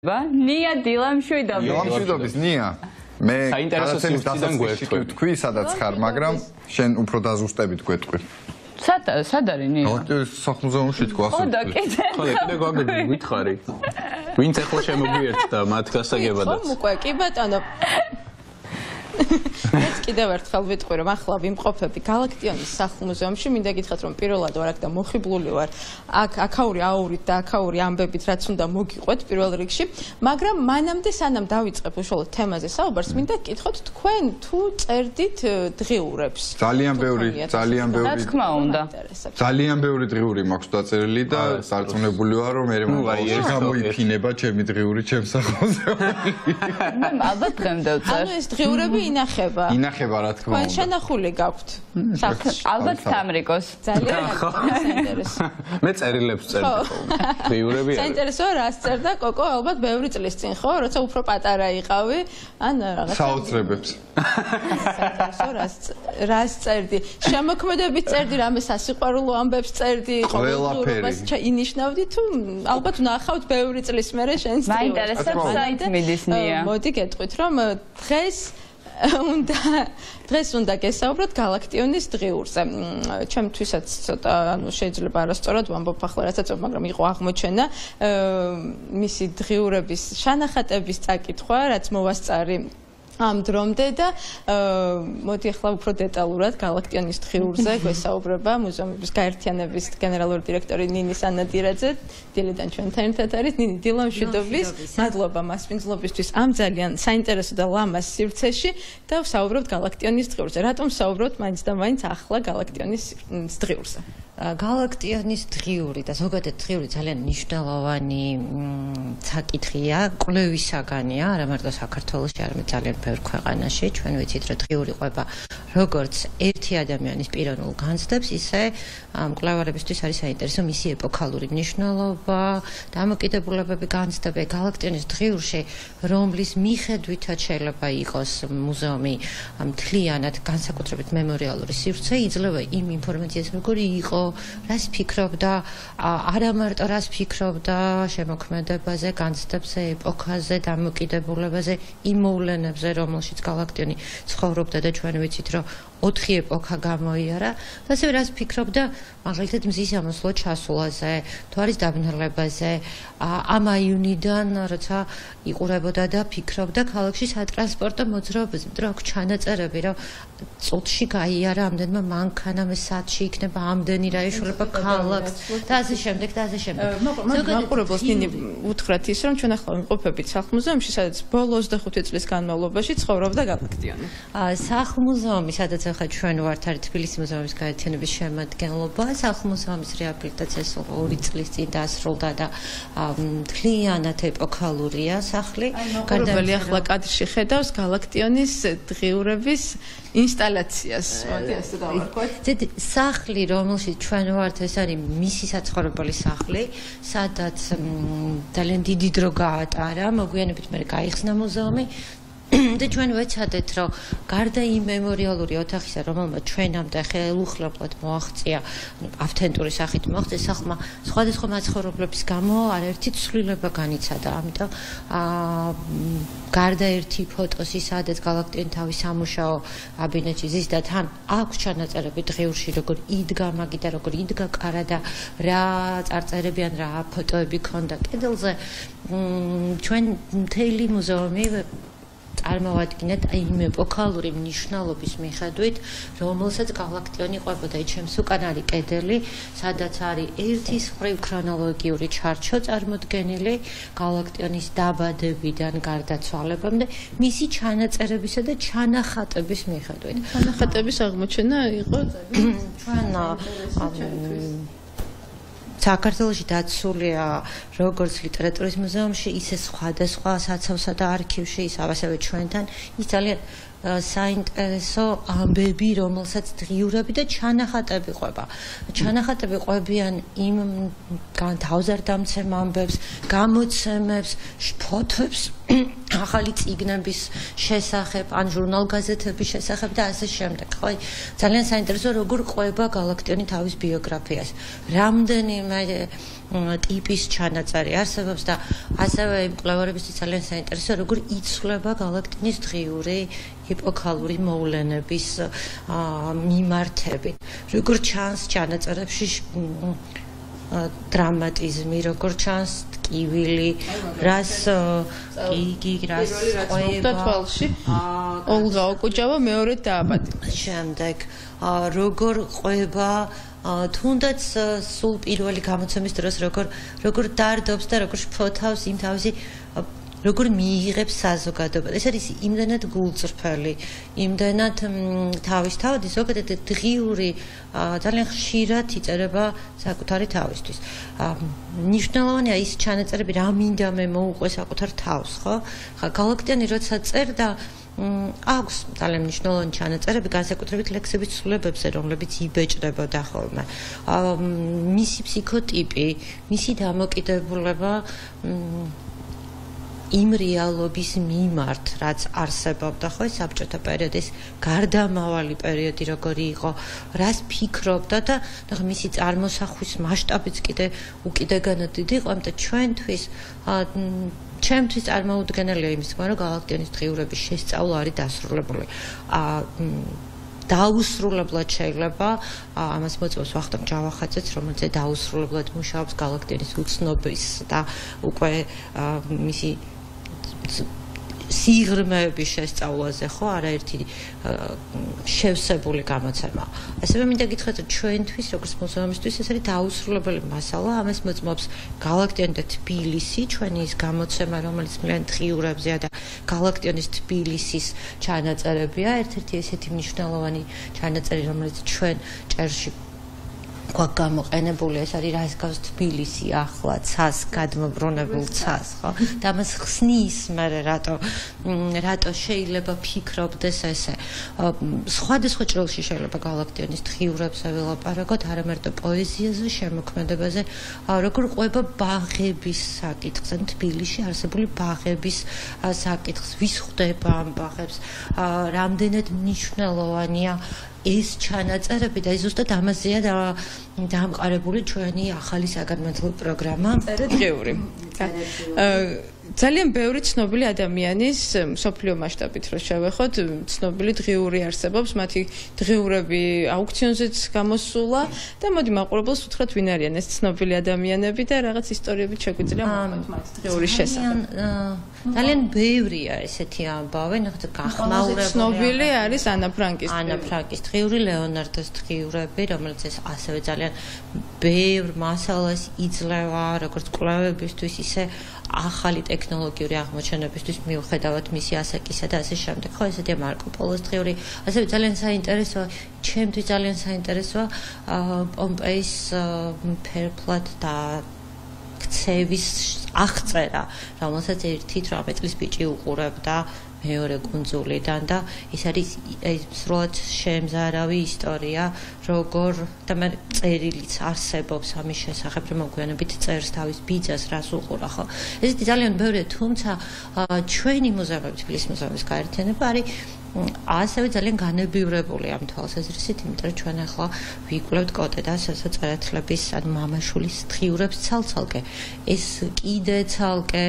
ნია დილამშვიდობის. დილამშვიდობის ნია. მე საინტერესო დასაწყისში თქვი, სადაც ხარ, მაგრამ შენ უფრო დაზუსტებით გვეტყვი. სად არის ნია? სახლ-მუზეუმში თქვა ახლა. ხო და კიდე. ხო და კიდე გვითხარი. ვინც ახლა შემოგვიერთდა მათ გასაგებადაც. ხო უკვე კი ბატონო. მეც კიდევ ერთხელ ვიტყვი რომ ახლა ვიმყოფები გალაქტიონის სახლ-მუზეუმში, მინდა გითხრათ რომ პირველად ვარ აქ და მოხიბლული ვარ აქ აქაური აურით და აქაური ამბებით რაც უნდა მოგიყვეთ პირველ რიგში, მაგრამ მანამდე სანამ დავიწყებ უშუალოდ თემაზე საუბარს, მინდა გკითხოთ თქვენ თუ წერდით დღიურებს. ძალიან ბევრი რა თქმა უნდა. ძალიან ბევრი დღიური მაქვს დაწერილი და სარწმუნებული ვარ რომ მე გამოიფინება ჩემი დღიური ჩემს სახლ-მუზეუმში. მე ალბათ დღემდე ვწერ. ანუ ეს დღიურები ინახება. ინახება რა თქმა თქვენ უნდა. შენახული გაქვთ სახლში. ალბათ სამრიკოს. ძალიან საინტერესო. მე წერილებს წერდი ხოლმე. დღიურები არის. საინტერესოა რას წერდა კოკო, ალბათ ბევრი წლის წინ ხო, როცა უფრო პატარა იყავი, ან რაღაცა საოცრებებს. საინტერესო რას წერდი? შემოქმედებით წერდი, რამე სასიყვარულო ამბებს წერდი, ყოველდღიურობას ინიშნავდი თუ ალბათ ნახავთ ბევრი წლის მერე შენს დღიურებს. მაინტერესებს საით მიდის ნია. მოდი გეტყვით რომ დღეს უნდა გესაუბროთ გალაქტიონის დღიურზე. ჩემთვისაც ცოტა შეიძლება არასწორად ვამბობ ახლა რასაც, მაგრამ იყო აღმოჩენა მისი დღიურების შანახატების წაკითხვა, რაც მოვასწარი ამ დრომდე და მოდი ახლა უფრო დეტალურად გალაქტიონის დღიურზე გვესაუბრება მუზეუმების გაერთიანების გენერალური დირექტორი ნინი სანადირაძე. დილიდან ჩვენთან ერთად არის. ნინი, დილამშვიდობის. მადლობა მასპინძლობისთვის ამ ძალიან საინტერესო და ლამაზ სივრცეში და ვსაუბრობთ გალაქტიონის დღიურზე. რატომ ვსაუბრობთ მაინც და მაინც ახლა გალაქტიონის დღიურზე? გალაქტიონის დღიური და ზოგადად დღიური ძალიან მნიშვნელოვანი საკითხია, კვლევისაგანია, არა მარტო საქართველოში, არამედ ძალიან ბევრ ქვეყანაში. ჩვენ ვიცით, რომ დღიური ყვება როგორც ერთი ადამიანის პიროვნულ განცდებს, ისე მკვლევარებისთვის არის საინტერესო მისი ეპოქალური მნიშვნელობა, დამოკიდებულებები, განცდები გალაქტიონის დღიურში, რომლის მიხედვითაც შეიძლება იყოს მუზეუმი მთლიანად განსაკუთრებით მემორიალური სივრცე, იძლევა იმ ინფორმაციას, როგორი იყო, რას ფიქრობდა, არა მარტო რას ფიქრობდა შემოქმედებაზე, განცდებზე, ეპოქაზე, დამოკიდებულებაზე, იმ მოვლენებზე, რომელშიც გალაქტიონი ცხოვრობდა და ჩვენ ვიცით, რომ 4 ეპოქა გამოიარა, და ასევე რას ფიქრობდა მაგალითად მზის ამოსვლო ჩასვლაზე, თუ არის დაბნელებაზე, ამ აიუნიდან როცა იყურებოდა და ფიქრობდა ქალაქში სატრანსპორტო მოძრაობაზე, მაგრამ აქვს ჩანაწერები, რომ წუთში გაიარა ამდენმა მანქანამ, საათში იქნება ამდენი რა ეშველება ქალაქს და ასე შემდეგ და ასე შემდეგ. მაყურებელს ნინი უთხრათ ის, რომ ჩვენ ახლა ვიმყოფებით სახლ-მუზეუმში, სადაც ბოლო 25 წლის განმავლობაში ცხოვრობდა გალაქტიონი. სახლ-მუზეუმი, სადაც ახლა ჩვენ ვართ, არის თბილისის მუზეუმის გაერთიანების შემადგენლობა. სახლ-მუზეუმის რეაბილიტაცია 2 წლის წინ დასრულდა და მთლიანად ეპოქალურია სახლი. მაყურებელი ახლა კადრში ხედავს გალაქტიონის დღიურების ინსტალაციას. მოდი ასე დავარქვათ. სახლი, რომელშიც ჩვენ ვართ, ეს არის მისი საცხოვრებელი სახლი, სადაც ძალიან დიდი დრო გაატარა, მოგვიანებით მე გაიხსნა მუზეუმი. და ჩვენ ვეცადეთ, რომ გარდა იმ მემორიალური ოთახისა, რომელმაც ჩვენამდე ხელუხლებლად მოაღწია, ავთენტური სახით მოაღწია სახლმა, სხვადასხვა მაცხოვრებლების გამო არაერთი ცვლილება განიცადა. ამიტომ გარდა ერთი ფოტოსი, სადაც გალაქტიონი თავის სამუშაო კაბინეტში ზის და თან აქვს ჩანაწერები დღიურში, როგორ იდგა მაგი და როგორ იდგა კარა და რა წარწერები ან რა ფოტოები ქონდა კედელზე. ჩვენ მთელი მუზეუმი წარმოვადგინეთ იმ ეპოქალური მნიშვნელობის მიხედვით, რომელსაც გალაქტიონი ყვებოდა. ჩემს უკან არის კედელი, სადაც არის ერთი მხრივ ქრონოლოგიური ჩარჩო წარმოდგენილი გალაქტიონის დაბადებიდან გარდაცვალებამდე, მისი ჩანაწერებისა და ჩანახატების მიხედვით. ჩანახატების აღმოჩენა იყო ჩვენ საქართველოში დაცულია როგორც ლიტერატურის მუზეუმში, ისე სხვადასხვა საცავსა და არქივში, ასევე ჩვენთან. ის ძალიან საინტერესო ამბები, რომელსაც დღიურები და ჩანახატები ყვება. ჩანახატები ყვებიან იმ თავზარდამცემ ამბებს, გამოცემებს, ფოტოებს, ახალი წიგნების შესახებ, ან ჟურნალ-გაზეთების შესახებ და ასე შემდეგ. ხო, ძალიან საინტერესო როგორ ყვება გალაქტიონი თავის ბიოგრაფიას. რამდენიმე ტიპის ჩანაწერი არსებობს და ასევე იმ კვლევარებისთვის ძალიან საინტერესოა როგორ იცვლება გალაქტინის დღიური ეპოქალური მოვლენების მიმართები. Როგორ ჩანს ჩანაწერებში დრამატიზმი, როგორ ჩანს ტკივილი, რას ყვება თვალში ოლღა ოკუჯავა მეორედ დააბადა. შემდეგ როგორ ყვება თუნდაც სულ პირველი გამოცემის დროს როგორ დარდობს და როგორ შფოთავს იმ თავისი როგორ მიიღებს საზოგადოება. ეს არის იმდენად გულწრფელი, იმდენად თავისთავადი, ზოგადად დღიური ძალიან ხშირად იწერება საკუთარი თავისთვის. მნიშვნელოვანია ის ჩანაწერები, რა მინდა მე მოუყვე საკუთარ თავს, ხო? ხა გალაქტიანი როცა წერდა აქვს ძალიან მნიშვნელოვანი ჩანაწერები განსაკუთრებით ლექსების ცვლილებებზე, რომლებიც იბეჭდებოდა ხოლმე. მისი ფსიქოტიპი, მისი დამოკიდებულება იმ რეალობის მიმართ, რაც არსებობდა ხო საბჭოთა პერიოდის გარდამავალი პერიოდი როგორი იყო, რას ფიქრობდა და მისი წარმოსახვის მასშტაბიც უკიდეგანად დიდი იყო, ამიტომ ჩემთვის წარმოუდგენელია იმის თქმა, რომ გალაქტიონის დღიურების შესწავლა არის დასრულებული. დაუსრულებლად შეიძლება ამას მოწმობს ვახტანგ ჯავახაძეც, რომელიც დაუსრულებლად მუშაობს გალაქტიონის უცნობის და უკვე მისი სიღრმეების შესწავლაზე, ხო, არაერთი შევსებული გამოცემა. ასევე მინდა გითხრათ, რომ ჩვენთვის, როგორც მუზეუმისთვის, ეს არის დაუსრულებელი მასალა. ამას მოწმობს გალაქტიონი და თბილისი, ჩვენი ის გამოცემა, რომელიც მლიან დღიურებზეა და გალაქტიონის თბილისის ჩანაწერებია. ერთ-ერთი ესეთი მნიშვნელოვანი ჩანაწერი, რომელიც ჩვენ ჭერში გვაქვს გამოყენებული, ეს არის რას გავს თბილისი ახლა ცას გადმობრუნებულ ცას, ხო? და მას ხსნის მე რატო შეიძლება ფიქრობდეს ესე. სხვადასხვა ჭრილში შეიძლება გალაქტიონის დღიურებზე ველაპარაკოთ, არა მარტო პოეზიაზე, შემოქმედებაზე, როგორ ყვება ბაღების საკითხს, ან თბილისში არსებული ბაღების საკითხს, ვის ხვდება ამ ბაღებს, რამდენად მნიშვნელოვანია ეს ჩანაწერები და ზუსტად ამაზეა დამყარებული ჩვენი ახალი საგანმანათლებლო პროგრამა დღიური. ძალიან ბევრი ცნობილი ადამიანის მსოფლიო მასშტაბით რო შევეხოთ, ცნობილი დღიური არსებობს, მათი დღიურები აუქციონზეც გამოსულა და მოდი მაყურებელს უთხრათ ვინ არიან ეს ცნობილი ადამიანები და რაღაც ისტორიებით შეგვიძლია მოვყვეთ მათ დღიურის შესახებ. ძალიან ბევრია ესეთი ამბავი, ნახეთ გახმაურებული. ცნობილი არის ანა ფრანკის დღიური, ლეონარდოს დღიურები, რომელიც ასევე ძალიან ბევრ მასალას იძლევა, როგორც კვლევებისთვის, ისე ახალი ტექნოლოგიური აღმოჩენებისთვის მიუხედავად მისი ასაკისა და ასე შემდეგ. ხო, ესეთია მარკო პოლოს დღიური. ასევე ძალიან საინტერესოა, ჩემთვის ძალიან საინტერესოა პომპეის ფერფლად და ქცევის აღწერა, რომელსაც 1-8 წლის ბიჭი უყურებდა მეორე კუნძულიდან და ეს არის სრულად შემზარავი ისტორია, როგორ და მე წერილიც არსებობს ამის შესახებ, რომ მოგვიანებით წერს თავის ბიძას, რას უყურა, ხო? ესეთი ძალიან ბევრია, თუმცა ჩვენი მუზეუმები, თბილისის მუზეუმის გაერთიანება არის ასევე ძალიან განებივრებული ამ თვალსაზრისით, იმიტომ რომ ჩვენ ახლა ვიკვლევთ კოტედას სასოწერეთლების ან მამაშულის დღიურებს ცალ-ცალკე. ეს კიდე ცალკე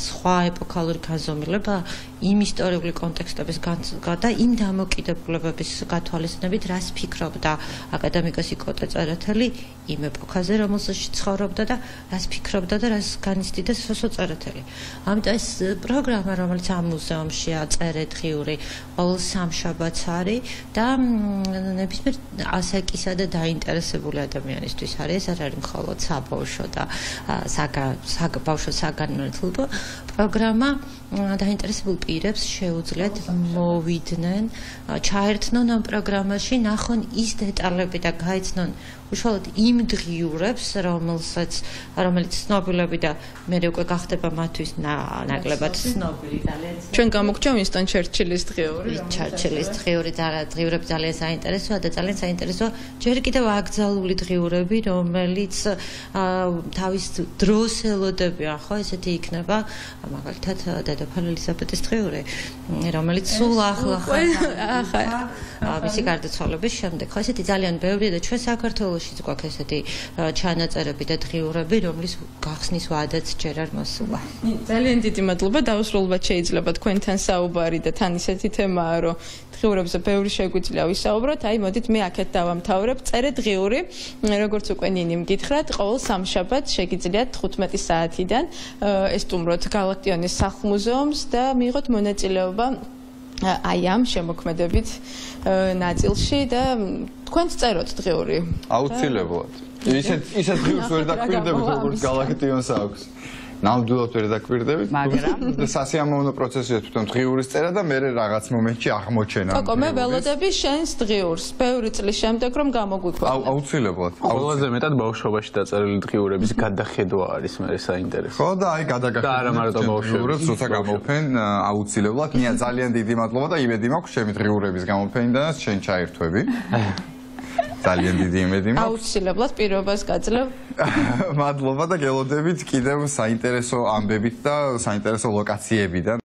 სხვა ეპოქალური განზომილება იმ ისტორიული კონტექსტების და იმ დამოკიდებულებების გათვალისწინებით, რას ფიქრობდა აკადემიკოსი კოტე წერეთელი იმ ეპოქაზე, რომელსაც ცხოვრობდა და რას ფიქრობდა და რას განიცდიდა სასოწერეთელი. ამიტომ ეს პროგრამა, რომელიც ამ მუზეუმშია წერე დღიური, ყოველ სამშაბათს არის და ნებისმიერ ასაკისა და დაინტერესებული ადამიანისთვის არის, ეს არ არის მხოლოდ საბავშვო და საბავშვო საგანმანათლებლო პროგრამა. დაინტერესებულ პირებს შეუძლიათ მოვიდნენ, ჩაერთნონ ამ პროგრამაში, ნახონ ის დეტალები და გაიცნონ უშუალოდ იმ დღიურებს, რომელიც ცნობილები და მე უკვე გახდება მათთვის ნაკლებად ცნობილი ძალიან. ჩვენ გამოგჭა ვინსტონ ჩერჩილის დღიური. ჩერჩილის დღიურები ძალიან საინტერესოა და ძალიან საინტერესოა ჯერ კიდევ აკრძალული დღიურები, რომელიც თავის დროს ელოდებიან, ხო, ესეთი იქნება მაგალითად დედოფალ ელიზაბეტის დღიური, რომელიც სულ ახლა მისი გარდაცვალების შემდეგ. ხო, ესეთი ძალიან ბევრია და ჩვენ საქართველოშიც გვაქვს ესეთი ჩანაწერები და დღიურები, რომლის გახსნის ვადაც ჯერ არ მოსულა. ძალიან დიდი მადლობა, დაუსრულებლად შეიძლება თქვენთან საუბარი და თან ისეთი თემაა, რომ დღიურებზე ბევრი შეგვიძლია ვისაუბროთ. აი, მოდით მე აქეთ დავამთავრებ. წერე დღიური, როგორც უკვე ნინიმ გითხრათ, ყოველ სამშაბათს შეგიძლიათ 15 საათიდან ესტუმროთ გალაქტიონის სახლ-მუზეუმს და მიიღოთ მონაწილეობა აი ამ შემოქმედებით ნაწილში და თქვენც წეროთ დღიური. აუცილებლად. ისეთ დღიურს ვერ დაკვირდებით, როგორც გალაქტიონს აქვს. ნამდვილად ვერ დაკვირდებით, მაგრამ სასიამოვნო პროცესია თვითონ დღიურის წერა და მე რაღაც მომენტში აღმოჩენა. კოკო, მე ველოდები შენს დღიურს, ბევრი წლის შემდეგ რომ გამოგვიქვეყნებ. აუცილებლად. ყველაზე მეტად ბავშვობაში დაწერილი დღიურების გადახედვა არის მე საინტერესო. ხო და აი გადაგახდეთ როცა გამოფენ აუცილებლად. ნია ძალიან დიდი მადლობა და იმედი მაქვს ჩემი დღიურების გამოფენიდან შენ ჩაერთვები. ძალიან დიდი იმედი მაქვს. აუცილებლად პირობას გაძლევ. მადლობა და გელოდებით კიდევ საინტერესო ამბებით და საინტერესო ლოკაციებიდან.